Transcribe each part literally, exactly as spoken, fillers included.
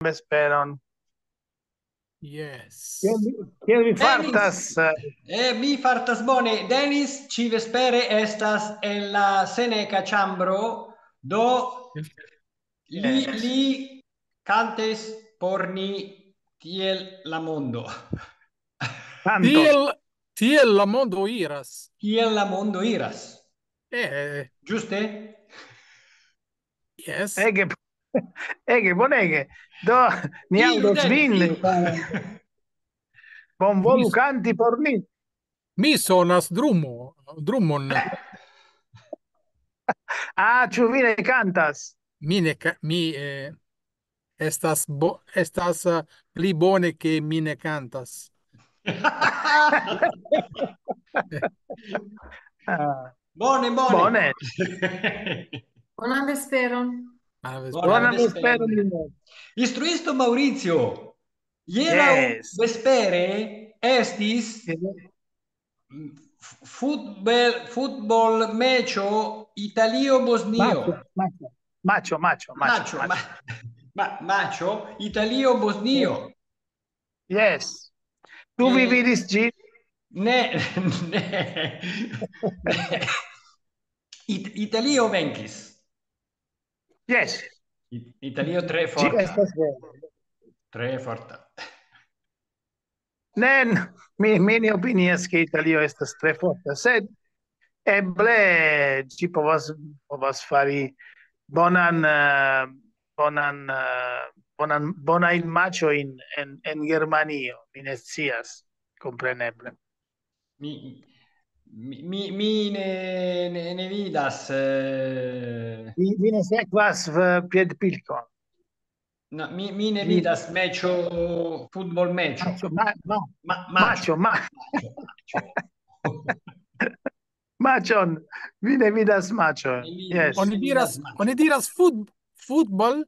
vesperon. Yes. Kiel vi, kiel vi Denis. Fartas? Eh, mi fartas bone. Denis ĉi vespere estas en la Seneka ĉambro, do li, Yes. li kantis por ni tiel la mondo. Kantos. Tiel, tiel la mondo iras. Kiel la mondo iras. Eh, Ĝuste? Yes. Ege, ege, bonege. Do, ni Iru, aŭdos Denis, vin. iru. Bonvolu Mi- kanti por ni. Mi sonas drumo, drumon. Ah, ĉu vi ne kantas? Mi ne ka-, mi eh, estas bo, estas eh, pli bone ke mi ne kantas. Ah, Bone, bone. Bone. Bonan vesperon. Ah, ves- Bone. Bonan Vesperon. vesperon. Instruisto Maurizio, hieraŭ Yes. Vespere estis f- futbol futbol meĉo Italio-Bosnio. Maĉo, maĉo, maĉo, maĉo, Maĉo, maĉo. ma, ma, maĉo Italio-Bosnio. Yes. Tu vi Eh, vidis ĝin? Ne, ne, ne. It, Italio venkis. Yes. It, Italio tre Ĝi forta. Estas vera. Tre forta. Ne, n-, mi, mi ne opinias, ke Italio estas tre forta, sed eble ĝi povas, povas fari bonan, eh, bonan, eh, bonan, bonajn maĉojn en, en Germanio, mi ne scias, kompreneble. Mi, mi, mi, mi ne, ne, ne vidas. Eh, Vi, vi ne sekvas, eh, piedpilkon. No, mi, mi ne Mi- vidas meĉo, futbol meĉo. Maĉo, ma, ma, Ma, maĉo, maĉo, ma, maĉo, maĉo. maĉon. Vi ne vidas maĉon. Mi Yes. Oni diras, maĉo. Oni diras fut, futbol.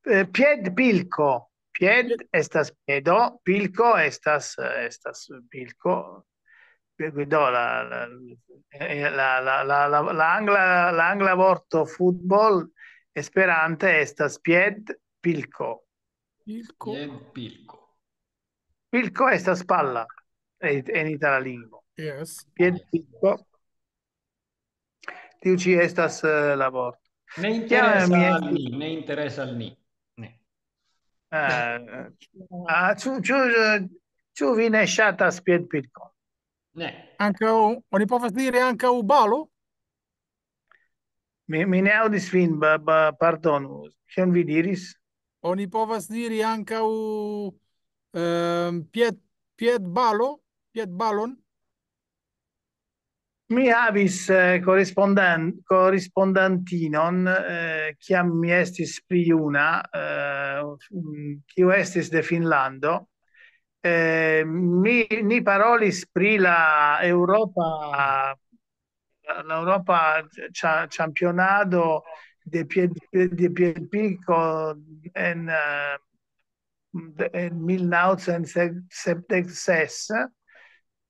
Eh, piedpilko. Pied estas piedo, pilko estas, eh, estas pilko. Do la, la, eh, la, la, la, la, la angla, la angla vorto futbol esperante estas piedpilko. Pilko. Piedpilko. Pilko estas palla en, en itala lingvo. Yes. Piedpilko. Tiu ĉi estas, eh, la vorto. Ne interesa mi al estis- ni, ne interesa al ni. Ne. Eh, ah, ĉu, ĉu, eh, ĉu vi ne ŝatas piedpilkon? Ne. Ankaŭ, oni povas diri ankaŭ balo. Mi, mi ne aŭdis vin, ba, ba, pardonu. Kion vi diris? Oni povas diri ankaŭ ehm, pied, piedbalo, piedbalon. Mi havis, eh, korespondan-, korespondantinon, eh, kiam mi estis pli juna, eh, mm, kiu estis de Finnlando. Eh, mi, ni parolis pri la Eŭropa, la, la Eŭropa ĉa-, ĉampionado de pied-, de piedpilko en, eh, de, en mil naŭcent sepdek ses,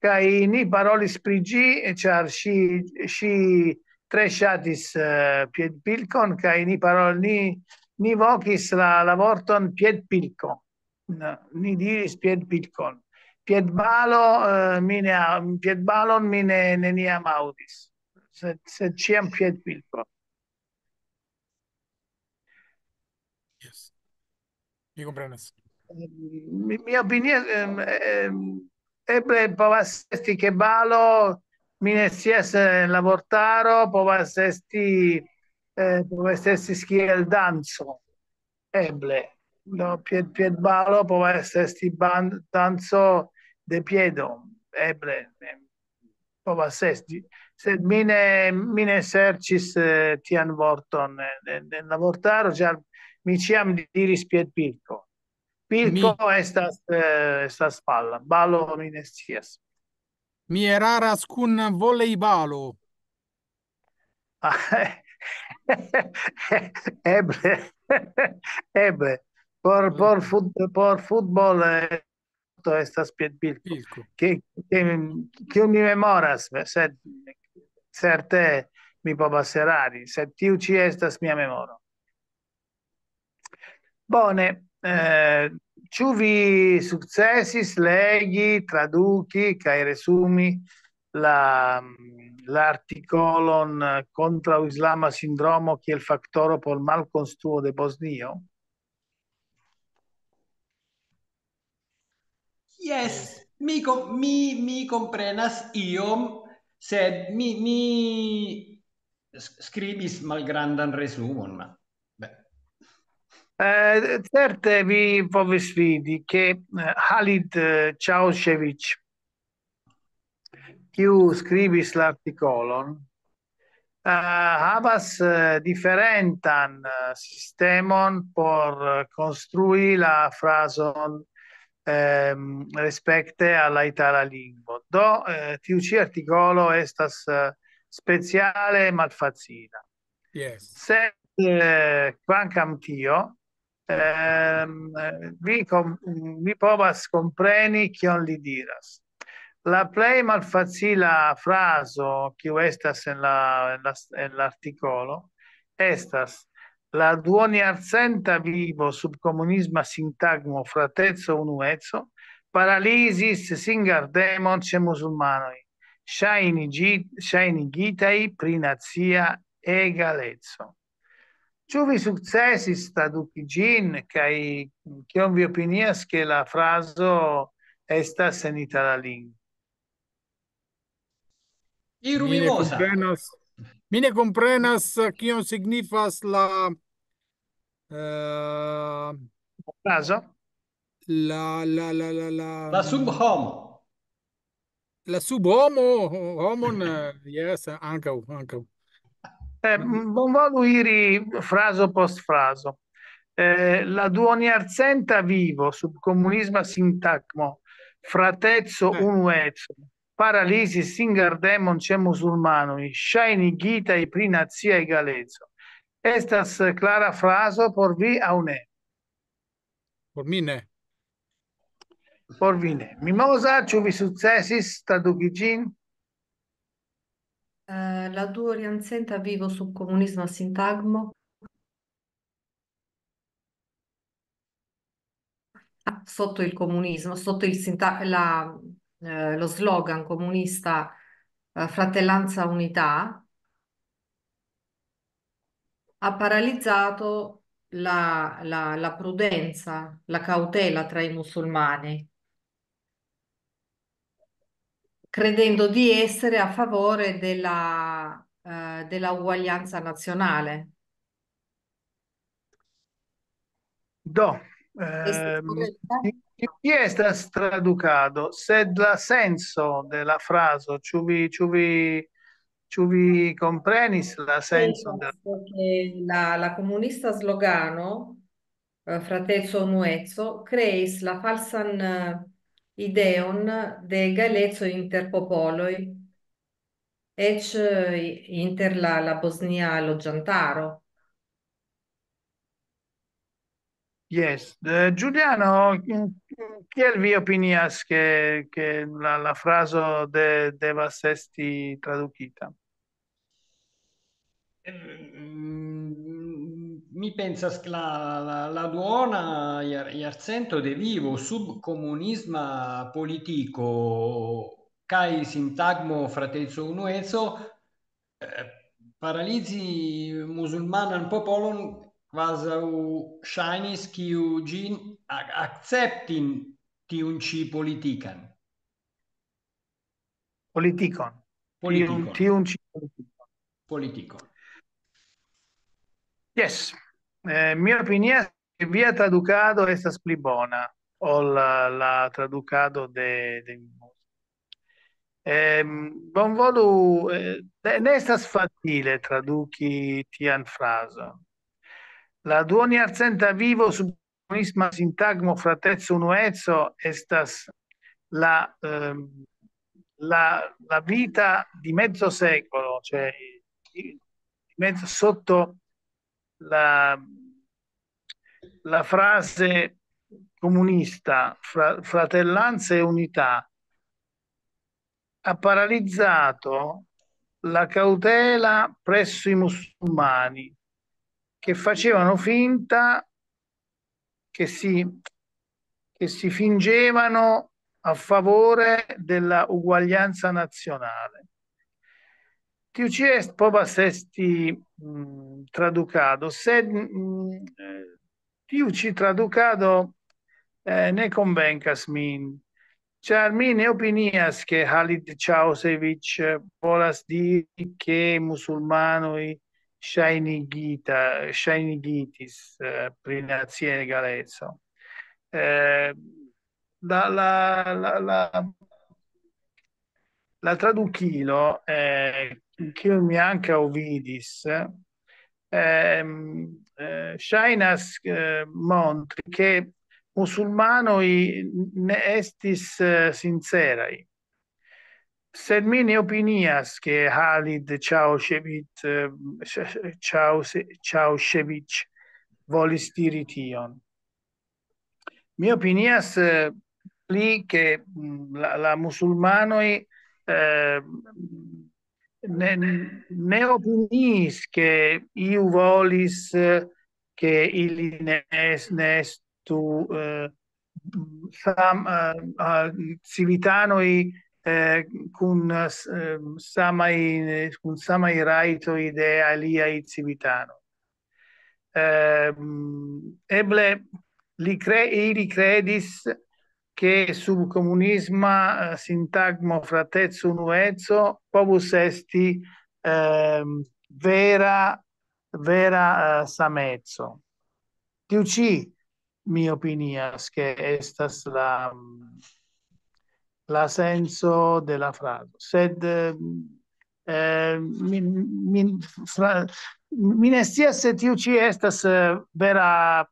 kaj ni parolis pri ĝi, ĉar ŝi, ŝi tre ŝatis, eh, piedpilkon, kaj ni parol-, ni, ni vokis la, la vorton piedpilko. No, ni diris piedpilkon. Piedbalo, eh, mi ne a-, piedbalon mi ne, neniam aŭdis. Sed, sed ĉiam piedpilko. Yes. Mi komprenas. Mi, mi opinias, ehm, ehm, eble povas esti ke balo, mi ne scias, eh, la vortaro, povas esti, eh, povas esti kiel danco. Eble. No, pied, piedbalo povas esti ban-, danco de piedo. Eble. Ehm, povas esti. Sed mi ne, mi ne serĉis, eh, tian vorton en, en, en la vortaro, ĉar mi ĉiam diris piedpilko. Pilko Mi- estas, eh, estas palla. Balo mi ne scias. Mi eraras kun volejbalo. Eble. Eble. Por, por fut-, por futbol, eh, estas piedpilko. Pilko. Ke, ke, kiun mi memoras, sed certe mi povas erari, sed tiu ĉi estas mia memoro. Bone, eh, ĉu vi sukcesis legi, traduki kaj resumi la, l'artikolon kontraŭ islama sindromo kiel faktoro por malkonstruo de Bosnio? Jes, mi, kom- mi, mi komprenas iom, sed mi, mi s- skribis malgrandan resumon, ma beh. Eh, certe vi povis vidi, ke eh, Halid eh, Čaušević, kiu skribis l'artikolon, eh, havas eh, diferentan eh, sistemon por eh, konstrui la frazon ehm, respekte al la itala lingvo. Do, eh, tiu ĉi artikolo estas eh, speciale malfacila. Yes. Sed eh, kvankam tio, ehm, vi, kom- vi povas kompreni kion li diras. La plej malfacila frazo, kiu estas en la, en la, en l'artikolo, estas: "La duonjarcenta vivo sub komunisma sintagmo frateco unueco paralizis singardemon ĉe musulmanoj, ŝajnigi- ŝajnigitaj pri nacia egaleco." Ĉu vi sukcesis traduki ĝin, kaj kion vi opinias, ke la frazo estas en itala lingvo? Iru Mi ne mimosa. komprenas, mi ne komprenas eh, kion signifas la eh, Frazo? la la la la la La subhomo. La subhomo, homon, eh, yes, ankaŭ, ankaŭ. Eh, bonvolu iri frazo post frazo. Eh, la duonjarcenta vivo sub komunisma sintagmo frateco Eh. unueco paralizis singardemon ĉe musulmanoj, ŝajnigitaj pri nacia egaleco. Estas eh, klara frazo por vi aŭ ne? Por mi ne. Por vi ne. Mimosa, ĉu vi sukcesis traduki ĝin? Eh, la duoriarcenta vivo sub komunisma sintagmo. Ah, sotto il comunismo, sotto il sinta- la, eh, lo slogan comunista eh, fratellanza unità, ha paralizzato la, la- la prudenza, la cautela tra i musulmani, credendo di essere a favore della, eh, della uguaglianza nazionale. Do, Estas ehm, correcta? Ti- ti- ti estas tradukado, sed la senso de la frazo, ĉu vi, ĉu vi, ĉu vi komprenis la senson de la Che la, la comunista slogano, eh, Frateco Unueco, creis la falsan eh, ideon de egaleco inter popoloj, eĉ eh, inter la, la bosnia loĝantaro. Yes. Eh, Giuliano, mm, kiel vi opinias, ke, ke la, la frazo de, devas esti tradukita? Mm, Mi pensas che la, la, la duona iar- iarcento de vivo sub comunisma politico kai sintagmo frateco unueco eh, paralizi musulmanan popolon kvazaŭ ŝajnis kiu ĝin a- akceptin tiun ĉi politikan. Politikon. Politikon. Tiun, tiun ĉi politikon. Politikon. Yes. Eh, mi opinias ke via tradukado estas pli bona ol la, la tradukado de, de Mimosa. Ehm, bonvolu, eh, ne, ne estas facile traduki tian frazon. La duoniarcenta vivo sub comunisma sintagmo frateco unueco estas la, ehm, la, la vita di mezzo secolo, cioè di mezzo sotto la, la frase comunista, fra- fratellanza e unità, ha paralizzato la cautela presso i musulmani che facevano finta che si, che si fingevano a favore della uguaglianza nazionale. Tiu ĉi est povas esti, mm, tradukado, sed, mm, eh, tiu ĉi tradukado, eh, ne konvenkas min, ĉar mi ne opinias, ke Halid Čausević, eh, volas diri, ke musulmanoj ŝajnigita-, ŝajnigitis, eh, pri nacia egaleco. Eh, la, la, la, la, la tradukilo, eh, kiun mi ankaŭ vidis, ehm, eh, ŝajnas, eh, montri, ke musulmanoj ne estis, eh, sinceraj. Sed mi ne opinias, ke Halid Čaušević, eh, Ča-, Čause-, Čaušević volis diri tion. Mi opinias, eh, pli, ke, mm, la, la musulmanoj, eh, ne, ne opiniis, ke iu volis, eh, ke ili ne es-, ne estu, eh, sam-, eh, ah, civitanoj, eh, kun, eh, s-, eh, samaj, kun samaj rajtoj de aliaj civitanoj. Ehm, eble li cre-, ili credis, che sub comunisma, eh, sintagmo frateco unueco povus esti, ehm, vera, vera, eh, sameco. Tiu ĉi, mi opinias, ke estas la, la senco de la frazo. Sed, eh, eh, mi, mi, fra-, mi ne scias se tiu ĉi estas, eh, vera,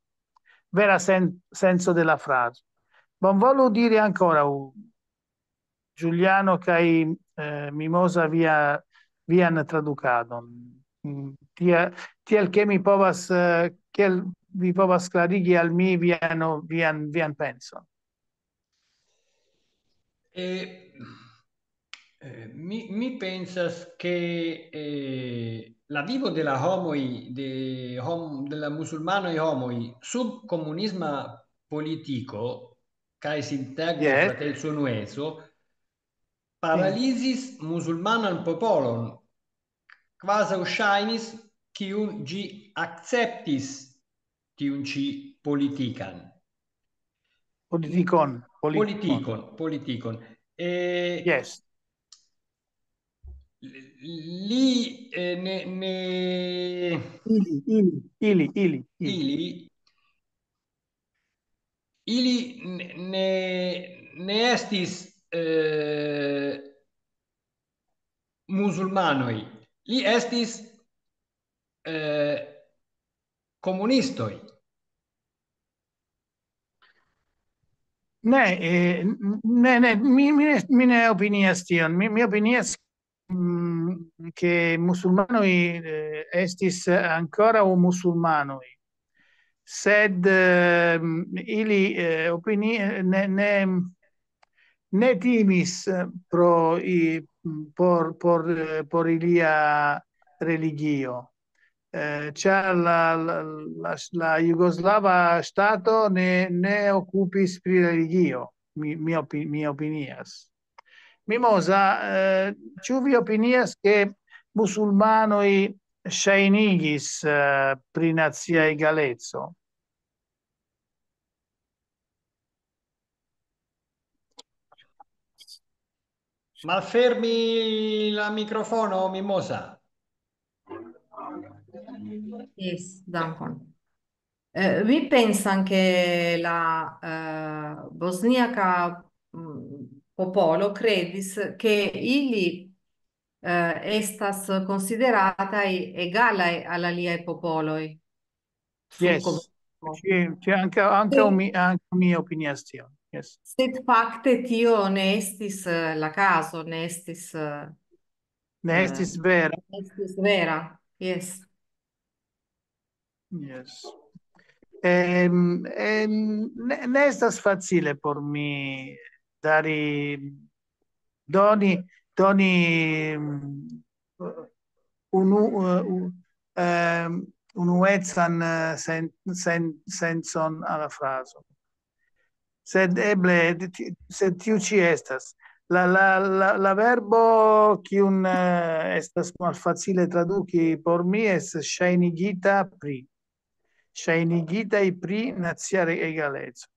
vera sen-, senco de la frazo. Bonvolu diri ankoraŭ, Giuliano kaj, eh, Mimosa, via, vian tradukadon. Mm, tia-, tiel ke mi povas, eh, kiel vi povas klarigi al mi vian, vian, vian penson. Eh, eh, mi, mi pensas che, eh, la vivo de la homoj, de hom-, de la musulmanoj homoj sub komunisma politiko kaj sintagmo, yes, frateco unueco paralizis musulmanan popolon, kvazaŭ ŝajnis, kiun ĝi akceptis tiun ĉi politikan. Politikon, politikon. Politikon, politikon. Eh, Yes. li, eh, ne, ne Ili, ili, ili, ili, ili. ili, ili ne, ne, ne estis, eh, musulmanoj, li estis, eh, komunistoj. Ne, eh, n-, ne, ne, mi, mi ne, mi ne opinias tion. Mi, mi opinias, mm, ke musulmanoj, eh, estis ankoraŭ musulmanoj. Sed, ehm, ili, eh, opini-, ne, ne, ne timis, eh, pro i-, por, por, eh, por ilia religio. Eh, ĉar la, la, la, la jugoslava ŝtato ne, ne okupis pri religio, mi, mi opi-, mi opinias. Mimosa, eh, ĉu vi opinias, ke musulmanoj ŝajnigis, eh, pri nacia egaleco? Malfermi la mikrofono, Mimosa. Yes, dankon. Eh, mi pensan ke la, eh, bosniaka, mm, popolo kredis ke ili, eh, estas konsiderataj egalaj al aliaj popoloj. Sul Yes. komunismo. Sì, sì, anche, anche Sì. mi, anche mi opinias tion. Yes. Sed fakte tio ne estis, eh, la kazo, ne estis, eh, Ne eh, estis vera. ne estis vera. Yes. Yes. Ehm, ehm, ne, ne estas facile por mi dari, doni, doni, mm, unu, eh, u-, ehm, unuecan, eh, sen-, sen-, sencon al la frazo. Sed eble, ti-, sed tiu ĉi estas. La, la, la, la verbo, kiun, eh, estas malfacile traduki por mi, estas ŝajnigita pri. Ŝajnigitaj pri nacia re-, egaleco.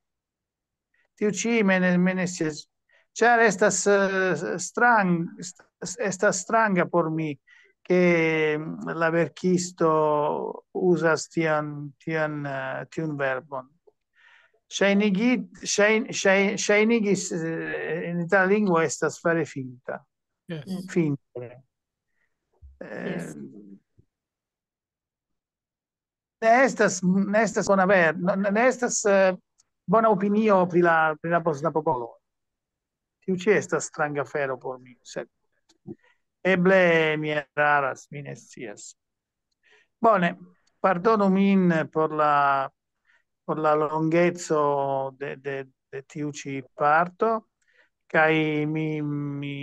Tiu ĉi mene-, menestias, ĉar estas, eh, strang-, est-, estas stranga por mi, ke, mm, la verkisto uzas tian, tian, eh, tiun verbon. Ŝajnigit-, ŝajn-, ŝaj-, ŝajnigis, eh, en itala lingvo estas fare finita. Yes. Finte. Eh, Yes. Ne estas, ne estas bona ver-, no, ne estas, eh, bona opinio pri la, pri la bosna popolo. Tiu ĉi estas stranga afero por mi, sed eble mi eraras, mi ne scias. Bone, pardonu min por la, por la longeco de, de, de tiu ĉi parto, kaj mi, mi,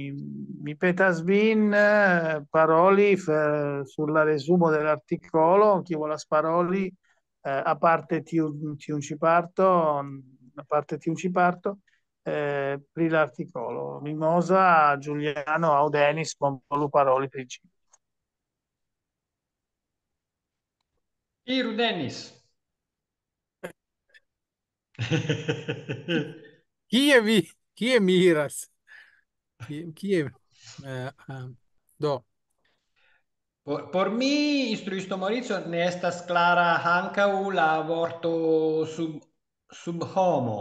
mi petas vin, eh, paroli f-, sur la resumo de l'artikolo, kiu volas paroli, eh, aparte tiu, tiun ĉi parto, aparte tiun ĉi parto, eh, pri l'artikolo. Mimosa, Giuliano aŭ Denis, bonvolu paroli pri ĝi. Iru, Denis. Kie vi, kie mi iras? Kie, kie, eh, eh, do. Por, por mi, instruisto Maurizio, ne estas klara ankaŭ la vorto sub, subhomo.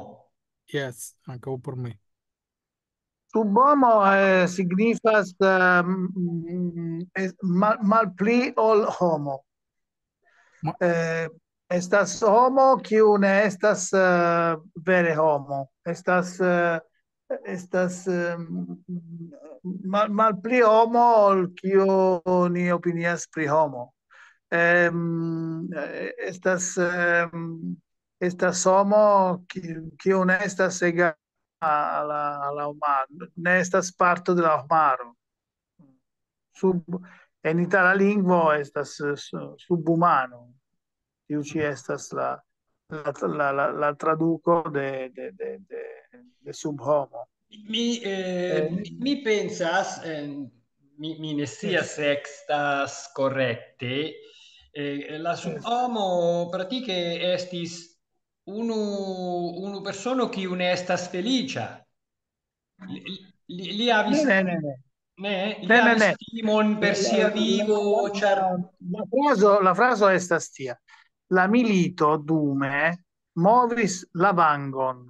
Yes, ankaŭ por mi. Subhomo, eh, signifas, eh, mm, es-, mal-, malpli ol homo. Ma- Eh, estas homo, kiu ne estas, eh, vere homo. Estas, eh, estas, eh, mal-, malpli homo, ol kiu ni opinias pri homo. Em, eh, estas, em, estas homo, ki-, kiu ne estas ega-, a la, a la homaro, ne estas parto de la homaro. Sub-, en itala lingvo estas, eh, su-, subhumano. Tiu ĉi estas la, la, la, la, la traduko de, de, de, de, de subhomo. Mi, eh, Eh, mi, mi pensas, eh, mi, mi ne scias Yes. se estas korekte, eh, la Yes. subhomo pratike estis unu, unu persono kiu ne estas feliĉa. Li, li, li havis, Ne, ne, ne, ne. ne, li Ne, ne, havis ne. timon per La, sia la, vivo, la, ĉar la, la frazo, la frazo estas tia. La milito dume movis la vangon,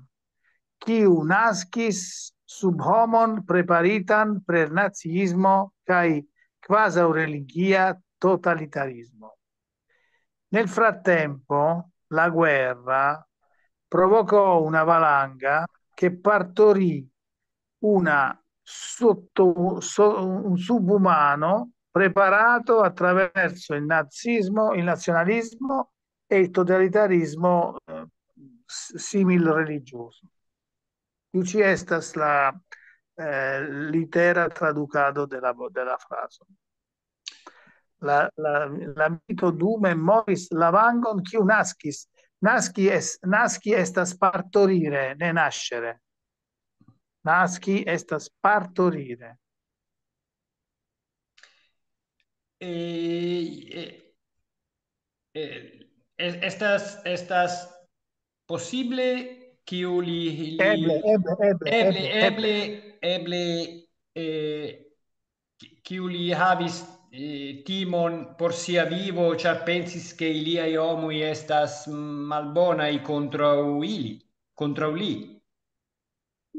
kiu naskis subhomon preparitan per naziismo kaj kvazaŭ religia totalitarismo. Nel frattempo, la guerra provocò una valanga che partorì una sotto-, so-, un subumano preparato attraverso il nazismo, il nazionalismo e il totalitarismo, eh, s-, simil religioso. Tiu ĉi estas la, eh, litera tradukado de la vo-, de la frazo. La, la, la milito dume movis la vangon, kiu naskis. Naski es-, naski estas partorire, ne nascere. Naski estas partorire. Eh, eh, eh, es-, estas, estas posible kiu li, li Eble, eble, eble, eble, eble, eble. eble, eble, eh, ki-, kiu li havis, eh, timon por sia vivo, ĉar pensis, ke iliaj homoj estas malbonaj kontraŭ ili, kontraŭ li.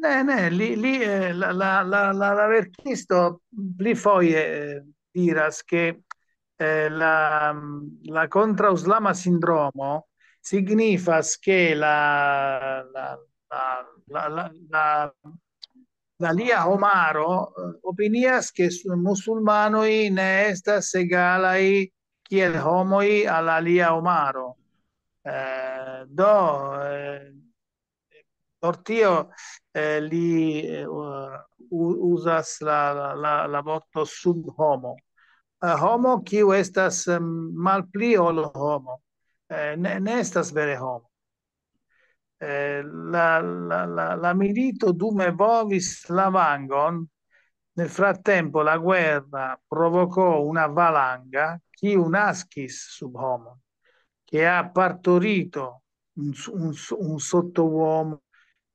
Ne, ne, li, li, eh, la, la, la, la, la verkisto pli foje, eh, diras, ke, eh, la, la kontraŭislama sindromo signifas, ke la, la, la, la, la, la, la lia homaro, eh, opinias, ke s-, musulmanoj ne estas egalaj kiel homoj al alia homaro. Eh, do, eh, por tio, eh, li, eh, u-, uzas la, la, la, la vorto subhomo. eh, homo kiu estas, em, malpli ol homo. Eh, ne, ne estas vere homo. Eh, la, la, la, la milito dume vovis la vangon, nel frattempo la guerra provocò una valanga kiu naskis sub homo, che ha partorito un, s- un s- un sottouomo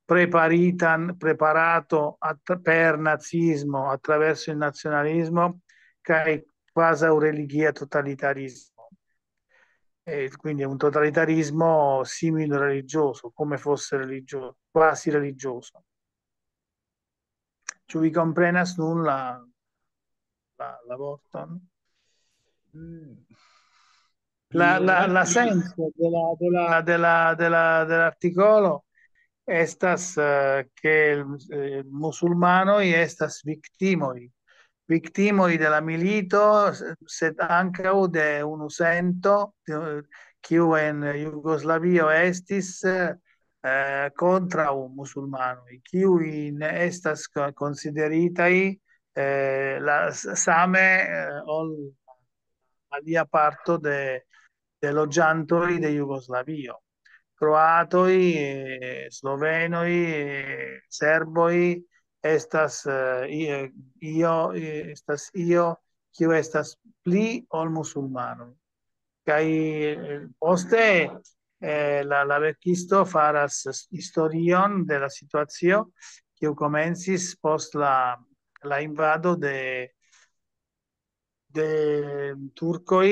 preparitan, preparato att- per nazismo, attraverso il nazionalismo, che è quasi un religia totalitarismo. E quindi è un totalitarismo simile religioso, come fosse religioso, quasi religioso. Ĉu vi komprenas nun la, la, la vorton? Mm. La, Io la, non la ti- senso della, della, della, della, dell'articolo estas, eh, che il, eh, musulmanoj estas viktimoj. Viktimoj de la milito, sed ankaŭ de unu sento, eh, kiu en Jugoslavio estis, eh, kontraŭ musulmanoj, kiuj ne estas ko- konsideritaj, eh, la, s- same, eh, ol alia parto de, de loĝantoj de Jugoslavio. Kroatoj, eh, slovenoj, eh, serboj estas, eh, i- eh, io, eh, estas io, kiu estas pli ol musulmanoj. Kaj, eh, poste, eh, la, la verkisto faras s- historion de la situacio, kiu komencis post la, la invado de, de turkoj,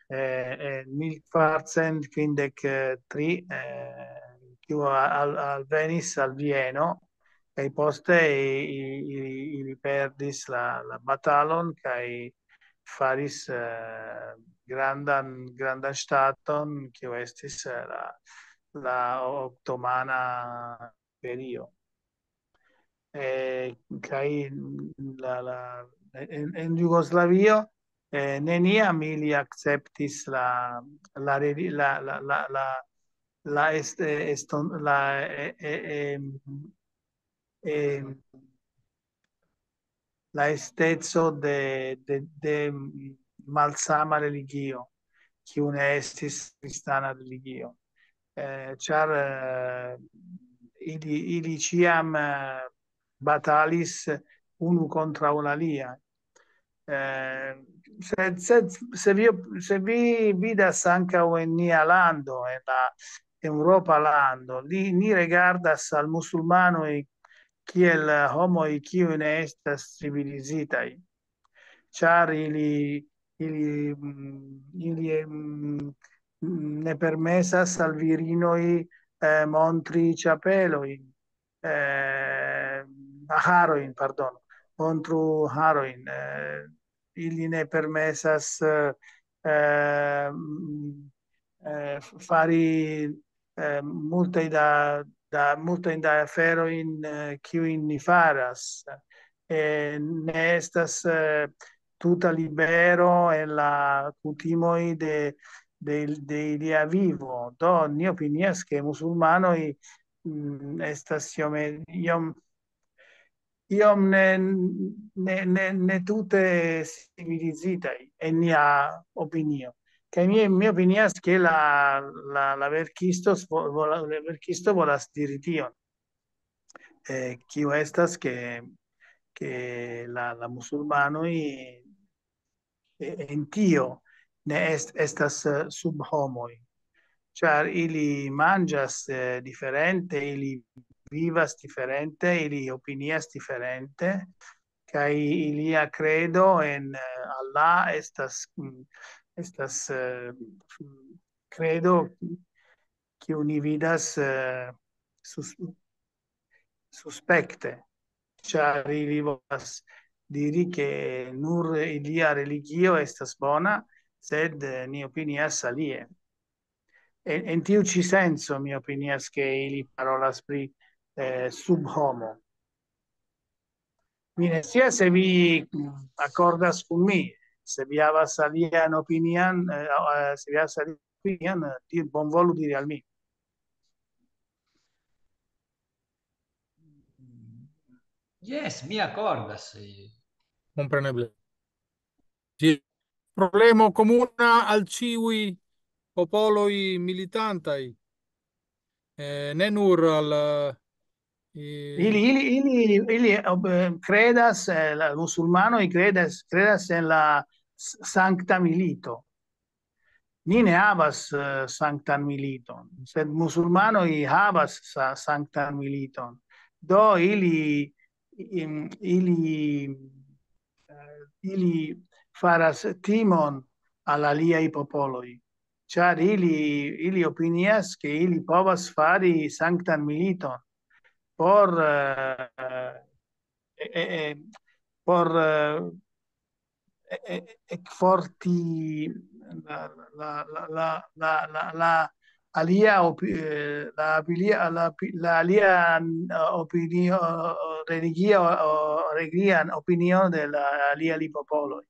eh, en mil kvarcent kvindek tri, eh, kiu al, alvenis al Vieno, kaj poste i- i- ili, ili perdis la, la batalon, kaj faris, eh, grandan, grandan ŝtaton, kiu estis, eh, la, la otomana imperio. Eh, kaj la, la, en, en Jugoslavio, eh, neniam ili akceptis la, la, reli- la, la, la, la, la, est, eh, eston, la, eh, eh, em, em, la esteco de, de, de malsama religio, kiu ne estis kristana religio. Eh, ĉar, eh, ili, ili ĉiam, eh, batalis unu kontraŭ la alia. Eh, sed, sed se vi, se vi vidas ankaŭ en nia lando, en la Eŭropa lando, li, ni rigardas al musulmanoj kiel, eh, homoj kiuj ne estas civilizitaj, ĉar ili, ili, mm, ili, mm, ne permesas al virinoj, eh, montri ĉapelojn, eh, harojn, pardon, montru harojn, eh, ili ne permesas, eh, eh, mm, eh, f- fari, eh, multaj da, da, multajn da aferojn, eh, kiujn ni faras. Eh, ne estas, eh, tuta libero en la kutimoj de, de, de ilia vivo. Do, ni opinias, ke musulmanoj, mm, estas iome, iom, iom ne, ne, ne, ne tute civilizitaj en nia opinio. Kaj mi, mi opinias, ke la, la, la verkisto vo-, vola-, la verkisto volas diri tion. Eh, kiu estas, ke, ke la, la musulmanoj, eh, en tio ne est-, estas, eh, sub homoj, ĉar ili manĝas, eh, diferente, ili vivas diferente, ili opinias diferente, kaj ilia kredo en, eh, Allah estas, mm, estas, eh, kredo kiu ni vidas, eh, sus-, suspekte, ĉar ili volas diri, ke nur ilia religio estas bona, sed, eh, ni opinias alie. En, en tiu ĉi senco, mi opinias, ke ili parolas pri, eh, subhomo. Mi ne scias se vi, mm, akordas kun mi, se vi havas alian opinion, eh, eh, se vi havas alian opinion, eh, di-, bonvolu diri al mi. Yes, mi akordas. Eh. Kompreneble. Ĝi problemo komuna al ĉiuj popoloj militantaj, eh, ne nur al, eh, Ili, ili, ili, ili eh, credas, eh, la musulmanoj credas, credas en la s- sankta milito. Ni ne havas eh, sanktan militon, sed musulmanoj havas sa- sanktan militon. Do ili, im- ili, eh, ili faras timon al aliaj popoloj, ĉar ili, ili opinias, ke ili povas fari sanktan militon por, eh, eh, eh, eh, por eh, eh, eh, ekforti la, la, la, la, la, la, la alia opi, eh, la, alia, la, pi- la alia eh, opinio, religia o religian opinion de la alia popoloj.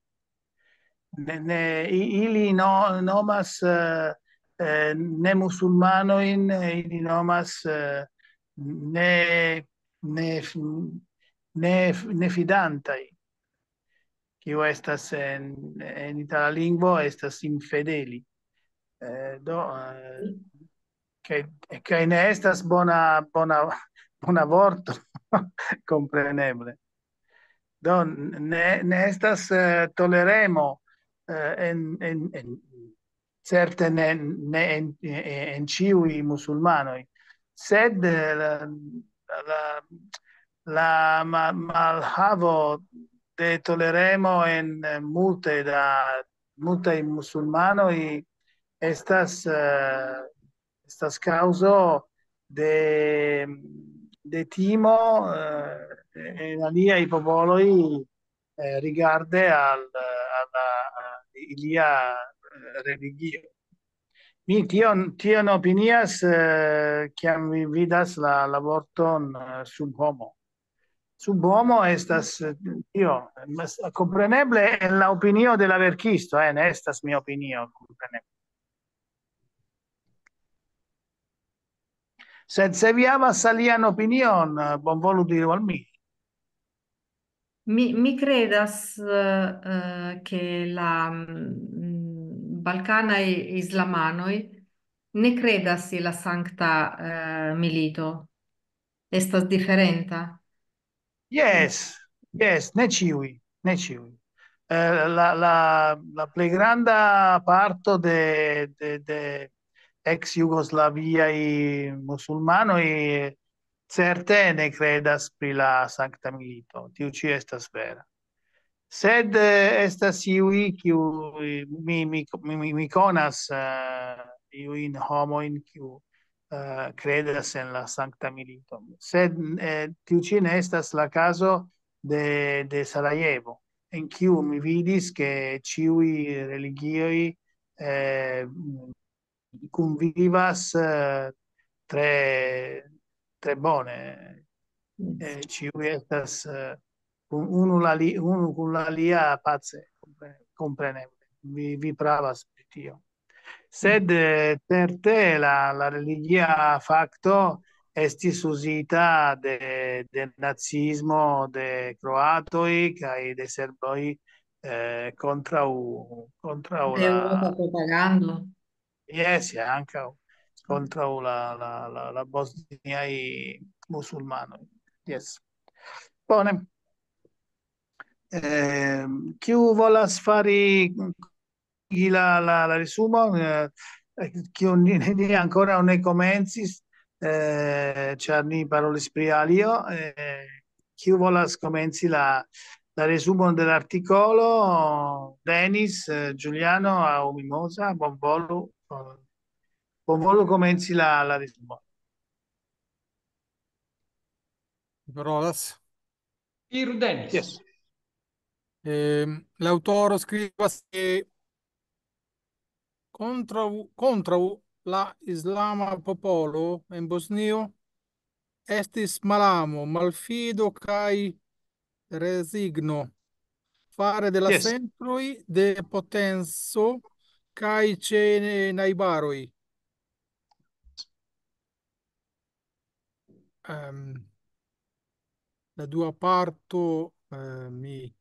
Ne, ne, i- ili no, nomas eh, eh, ne musulmanojn, ili nomas eh, ne, ne, f- ne, f- ne fidantaj, kiu estas en, en itala lingvo, estas infedeli. Eh, do, eh, kaj, kaj ne estas bona, bona, bona vorto, kompreneble. Do, ne, ne estas eh, toleremo eh, en, en, en, certe ne, ne en, en, en ĉiuj musulmanoj, sed eh, la, la, la ma- malhavo de toleremo en eh, multe da multaj musulmanoj estas, eh, estas kaŭzo de, de timo eh, en aliaj popoloj eh, rigarde al, al, al ilia eh, religio. Mi tion, tion opinias, eh, kiam vi vidas la, la vorton eh, subhomo. Subhomo estas eh, tio, mas- kompreneble en la opinio de la verkisto, eh, ne estas mia opinio, kompreneble. Sed se vi havas alian opinion, eh, bonvolu diru al mi. Mi, mi credas eh, eh, che la mm, balcanaj islamanoj ne credas je la sankta eh, milito. Estas diferenta. Yes, yes, ne ĉiuj, ne ĉiuj. Eh, la, la, la plej granda parto de, de, de ex Jugoslaviaj musulmanoj certe ne credas pri la sankta milito. Tiu ĉi estas vera. Sed eh, estas iuj, kiu mi, mi, mi, mi, mi konas eh, iujn homojn, kiu eh, credas en la sankta milito. Sed eh, tiu ĉi ne estas la kazo de, de Sarajevo, en kiu mi vidis, ke ĉiuj religioj eh, kunvivas eh, tre, tre bone. Eh, ĉiuj estas eh, kun unu la li, unu kun la alia pace, kompre- kompreneble. Vi, vi pravas pri tio. Sed eh, certe la, la religia fakto estis uzita de, de nazismo, de kroatoj kaj de serboj eh, kontraŭ, kontraŭ la Europa propagando. Yes, ankaŭ kontraŭ la, la, la, la bosniaj musulmanoj. Yes. Bone. Eh, kiu volas fari la, la, la resumo, eh, kiu ni, ni ankoraŭ ne komencis, eh, ĉar ni parolis pri alio, eh, kiu volas komenci la, la resumon de l'artikolo, Denis, eh, Giuliano aŭ Mimosa, bonvolu, eh, bonvolu komenci la, la resumon. Parolas. Iru Denis. Yes. Ehm, l'autoro scrivas che contro, contro la islama popolo in Bosnio estis malamo, malfido kaj resigno fare de la Yes. centroj de potenco kaj ĉe najbaroj. Ehm, la dua parto eh, mi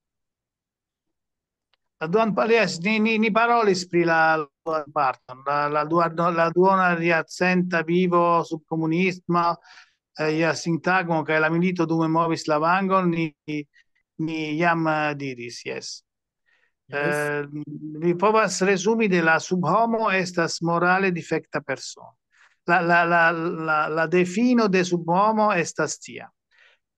La duan pa-, yes, ni, ni, ni parolis pri la, la duan parton. La, la duan, la duona jarcenta vivo sub komunismo, eh, ja sintagmo kaj la milito dume movis la vangon, ni, ni jam, eh, diris, yes. Yes. Eh, mi povas resumi de la subhomo estas morale difekta persono. La, la, la, la, la defino de subhomo estas tia.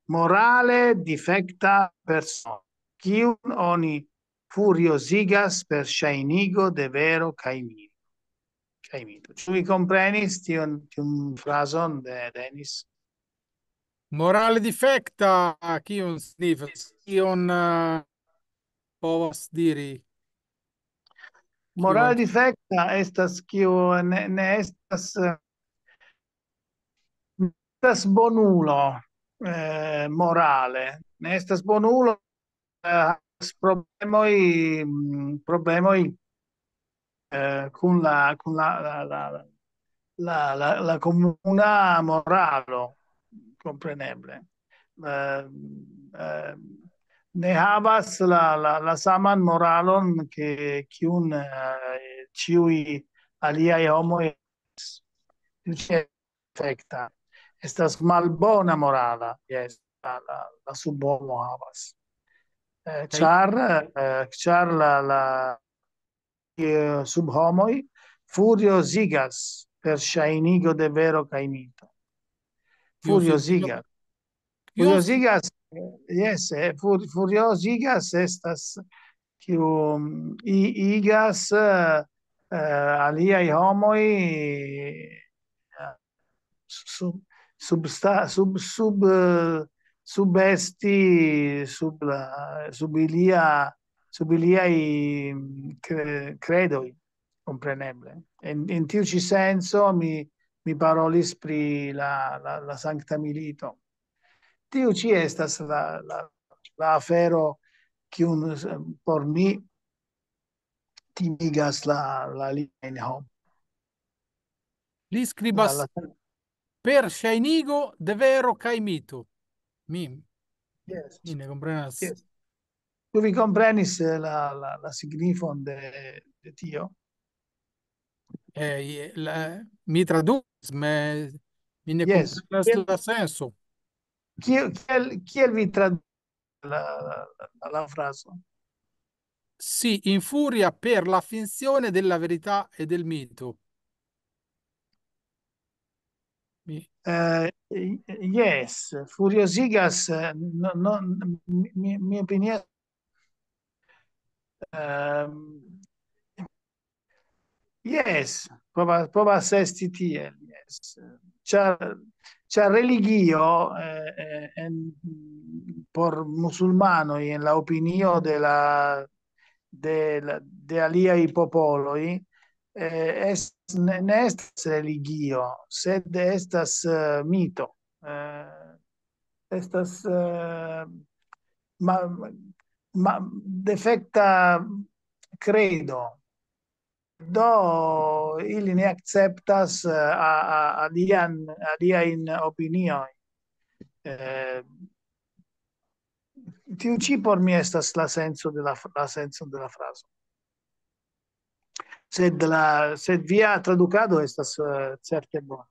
Morale difekta persono, kiun oni furiozigas per ŝajnigo de vero kaj mi-, kaj mito. Ĉu vi komprenis tion, tiun frazon de Denis? Morale difekta, kion signifas? Kion, eh, povas diri? Morale difekta estas kiu ne, ne estas, eh, estas bonulo, eh, morale. Ne estas bonulo, eh, havas problemoj, mm, problemoj, eh, kun la, kun la, la, la, la, la, la komuna moralo, kompreneble. Eh, eh, ne havas la, la, la saman moralon ke kiun, eh, ĉiuj aliaj homoj. Tiu ĉi difekta. Estas malbona morala, yes, la, la, la subhomo havas. Eh, ĉar, eh, ĉar la, la, eh, subhomoj furiozigas per ŝajnigo de vero kaj mito. Furiozigas. Furiozigas, eh, yes, eh, fur-, furiozigas estas kiu, mm, i-, igas, eh, eh, aliaj homoj, eh, sub, substa-, sub, sub, eh, subesti, sub la, sub ilia, sub iliaj, mm, cre-, credoj, kompreneble. En, en tiu ĉi senco mi, mi parolis pri la, la, la Sankta Milito. Tiu ĉi estas la, la, la afero, kiun, eh, por mi timigas la, la aliajn homojn. Li skribas: La, la per ŝajnigo de vero kaj mito. Mi, yes, mi ne komprenas. Yes. Ĉu vi komprenis, eh, la, la, la signifon de, de tio? Eh, je-, la, mi tradukis, me, mi ne, yes, komprenas, kiel la senso. Kiel, kiel, kiel vi tradukis la, la, la, la frazo? Si infuria per la finzione della verità e del mito. Mi- Eh, yes, furiosigas, eh, no, no, mi, mi, mi opinias, ehm, yes, povas, povas esti tiel, yes. Ĉar, ĉar religio, eh, eh, en, por musulmanoj, en la opinio de la, de la, de aliaj popoloj, eh, es-, ne, ne estas religio, sed estas, eh, mito. Eh, estas, eh, ma-, ma-, defekta credo. Do, ili ne akceptas, eh, a, a, alian, aliajn opiniojn. Eh, tiu ĉi por mi estas la senco de la f-, la senco de la frazo. Sed la, sed via tradukado estas, eh, certe bona.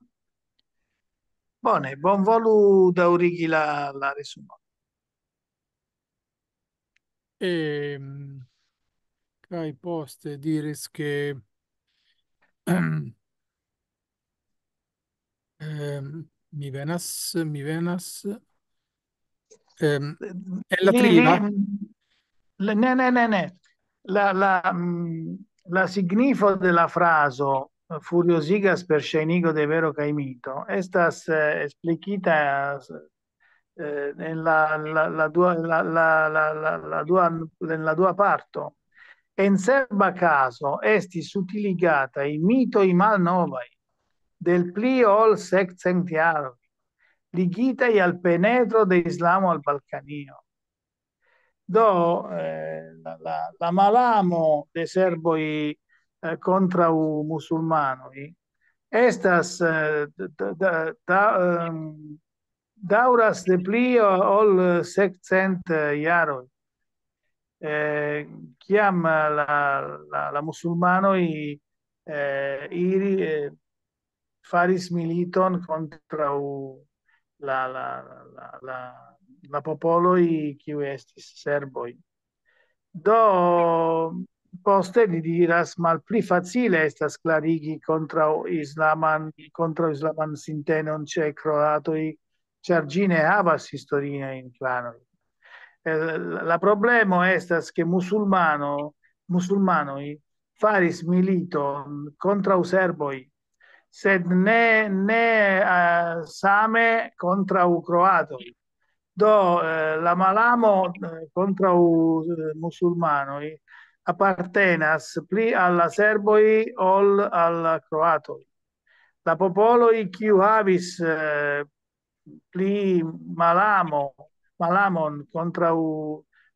Bone, bonvolu daŭrigi la, la resumon. Ehm, kaj poste diris ke, ehm, mi venas, mi venas, ehm, en la Li, li, triba. Le-, ne, ne, ne, ne. La, la, mm, la signifo de la frazo, eh, furiosigas per ŝajnigo de vero kaj mito, estas, eh, eksplikita, eh, en la, la, la dua, la, la, la, la, la dua, en la dua parto. En cerba kazo estis utiligataj mitoj malnovaj del pli ol sekcent jaroj, ligitaj al penetro de islamo al Balkanio. Do, eh, la, la, la malamo de serboj, eh, kontraŭ musulmanoj estas, eh, da, da, da, ehm, daŭras de pli ol sekcent jaroj. Eh, kiam la, la, la musulmanoj, eh, iri, eh, faris militon kontraŭ la, la, la, la, la popoloj, kiuj estis serboj. Do, poste li diras, malpli facile estas klarigi kontraŭ islaman, kontraŭ islaman sintenon ĉe kroatoj, ĉar ĝi ne havas historiajn klanojn. Eh, la problemo estas, ke musulmano, musulmanoj faris militon kontraŭ serboj, sed ne, ne, eh, same kontraŭ kroatoj. Do, eh, la malamo, eh, kontraŭ, eh, musulmanoj apartenas pli al la serboj ol al la kroatoj. La popoloj, kiu havis, eh, pli malamo, malamon kontraŭ,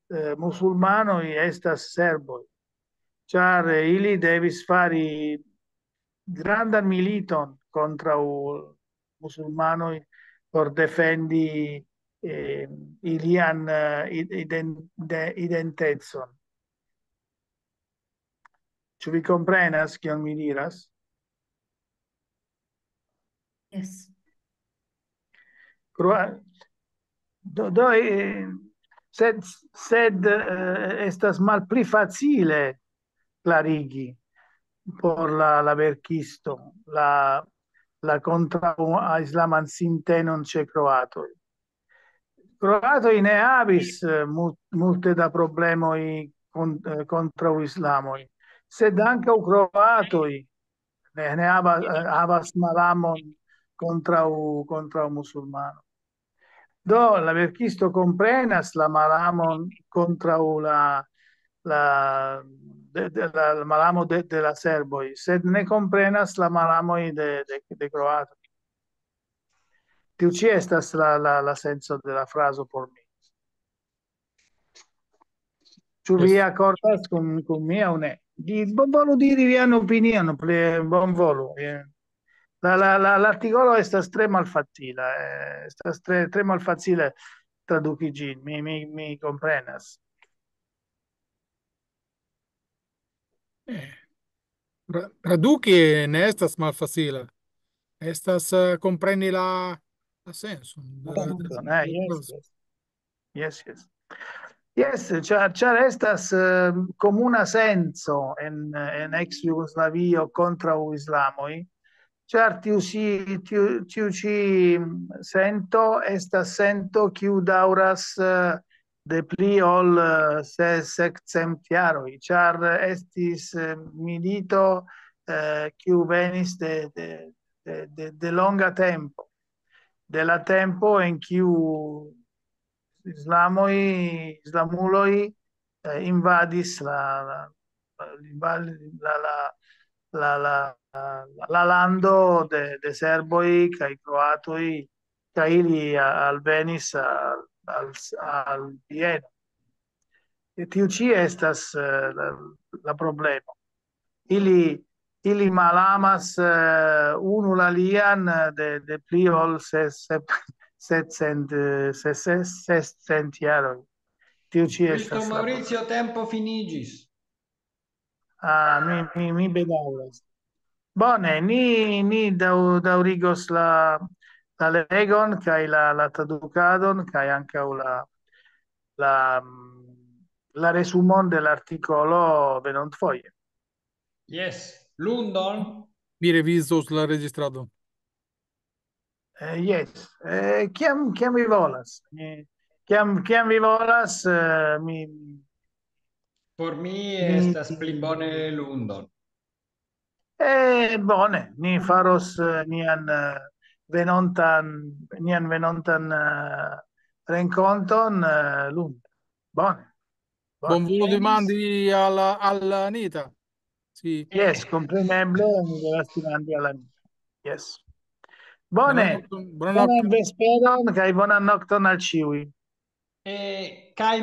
eh, musulmanoj, estas serboj, ĉar ili devis fari grandan militon kontraŭ musulmanoj por defendi, eh, ilian, eh, id-, iden-, de-, identecon. Ĉu vi komprenas, kion mi diras? Yes. Kroa-, do, do, eh, sed, sed, eh, estas malpli facile klarigi por la, la verkisto la, la kontraŭ islaman sintenon ĉe kroatoj. Kroatoj ne havis, eh, mu-, multe da problemoj kon-, eh, kontraŭ islamoj, sed ankaŭ kroatoj ne, ne havas, eh, havas malamon kontraŭ, kontraŭ musulmano. Do, la verkisto komprenas la malamon kontraŭ la, la, de, de, la, la malamo de, de la serboj, sed ne komprenas la malamoj de, de, de kroatoj. Tiu ĉi estas la, la, la senco de la frazo por mi. Ĉu vi Yes. akordas kun, kun mi aŭ ne? Di, bonvolu diri vian opinion, pli bonvolu, eh. La, la, la, l'artikolo estas tre malfacila, eh, estas tre, tre malfacile traduki ĝin, mi, mi, mi komprenas. Eh, tra-, traduki ne estas malfacile. Estas, eh, kompreni la, la senson de la, Senson, de la eh, yes, frazo. yes. Yes, yes, ĉar, ĉar estas, eh, komuna senco en, en ex Jugoslavio kontraŭ islamoj, ĉar tiu si, tiu, tiu ĉi sento estas sento, kiu daŭras, eh, de pli ol, eh, se-, sescent jaroj, ĉar estis, eh, milito, eh, kiu venis de, de, de, de, de longa tempo, de la tempo en kiu islamoj, islamuloj, eh, invadis la, la, la, la, la, la, la, la lando de, de serboj kaj kroatoj, kaj ili a-, alvenis al, al, al Vieno. E tiu ĉi estas, eh, la, la problemo. Ili, ili malamas, eh, unu la alian, eh, de, de pli ol ses-, sep-, setcent, eh, ses-, ses-, sescent jaroj. Tiu ĉi Giusto, estas la Maurizio, tempo finiĝis. Ah, mi, mi, mi bedaŭras. Bone, ni, ni daŭ-, daŭrigos la, la legon kaj la, la tradukadon kaj ankaŭ la, la, mm, la resumon de l'artikolo venontfoje. Yes, London. Mi revizos la registradon. Eh, yes. Eh, kiam, kiam vi volas? Eh, kiam, kiam vi volas, eh, mi, Por mi mi estas pli bone London. Eh, bone, ni faros, eh, nian, eh, venontan, nian venontan, eh, renkonton, eh, lunde. Bone. Bone. Bonvolu demandi al, al Anita. Sì. Yes, kompreneble, mi devas demandi al Anita. Yes. Bone. Buonanotte, buonanotte. Bonan vesperon kaj bonan nokton al ĉiuj. E, kaj